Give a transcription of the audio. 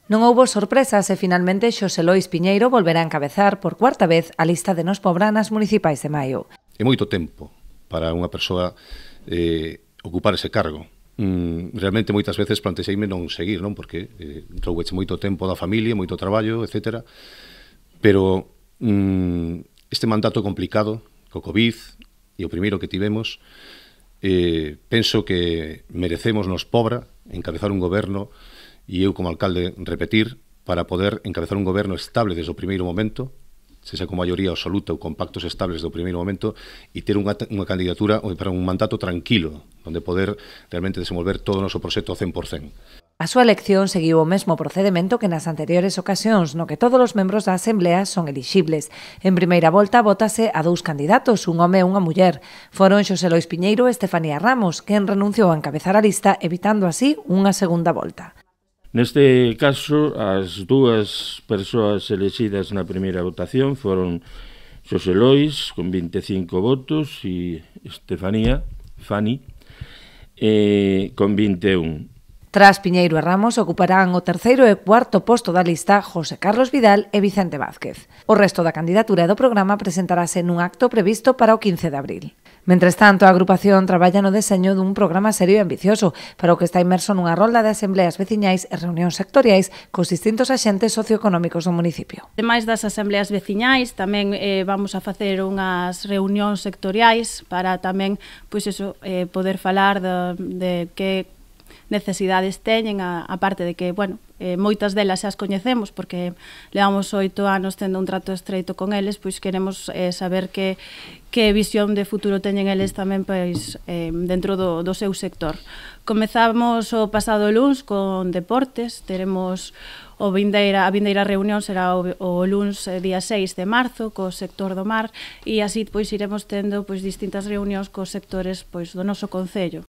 Non houbo sorpresas e finalmente Xosé Lois Piñeiro volverá a encabezar por cuarta vez a lista de Nos Pobra nas municipais de maio. É moito tempo para unha persoa ocupar ese cargo. Realmente moitas veces plantexeime non seguir, non? Porque troubeche moito tempo da familia, moito traballo, etc. Pero este mandato complicado, co Covid, e o primeiro que tivemos, penso que merecemos Nos Pobra encabezar un goberno e eu como alcalde repetir para poder encabezar un goberno estable desde o primeiro momento, sexa con maioría absoluta ou con pactos estables do primeiro momento, e ter unha candidatura para un mandato tranquilo, onde poder realmente desenvolver todo o noso proxecto ao 100%. A súa elección seguiu o mesmo procedimento que nas anteriores ocasións, no que todos os membros da Asamblea son elixibles. En primeira volta vótase a 2 candidatos, un home e unha muller. Foron Xosé Lois Piñeiro e Estefanía Ramos, quen renunciou a encabezar a lista, evitando así unha segunda volta. Neste caso, as dúas persoas elexidas na primeira votación foron Xosé Lois, con 25 votos, e Estefanía, Fani, con 21. Tras Piñeiro e Ramos ocuparán o terceiro e cuarto posto da lista José Carlos Vidal e Vicente Vázquez. O resto da candidatura do programa presentarase nun acto previsto para o 15 de abril. Mentres tanto, a agrupación traballa no deseño dun programa serio e ambicioso, para o que está inmerso nunha rolda de asembleas veciñais e reunións sectoriais cos distintos axentes socioeconómicos do municipio. Ademais das asembleas veciñais, tamén vamos a facer unhas reunións sectoriais para tamén poder falar de que necesidades teñen, a parte de que, moitas delas xa as coñecemos porque levamos 8 anos tendo un trato estreito con eles, pois queremos saber que visión de futuro teñen eles tamén dentro do seu sector. Comezamos o pasado luns con deportes, teremos a vindeira reunión será o luns día 6 de marzo co sector do mar e así iremos tendo distintas reunións cos sectores do noso concello.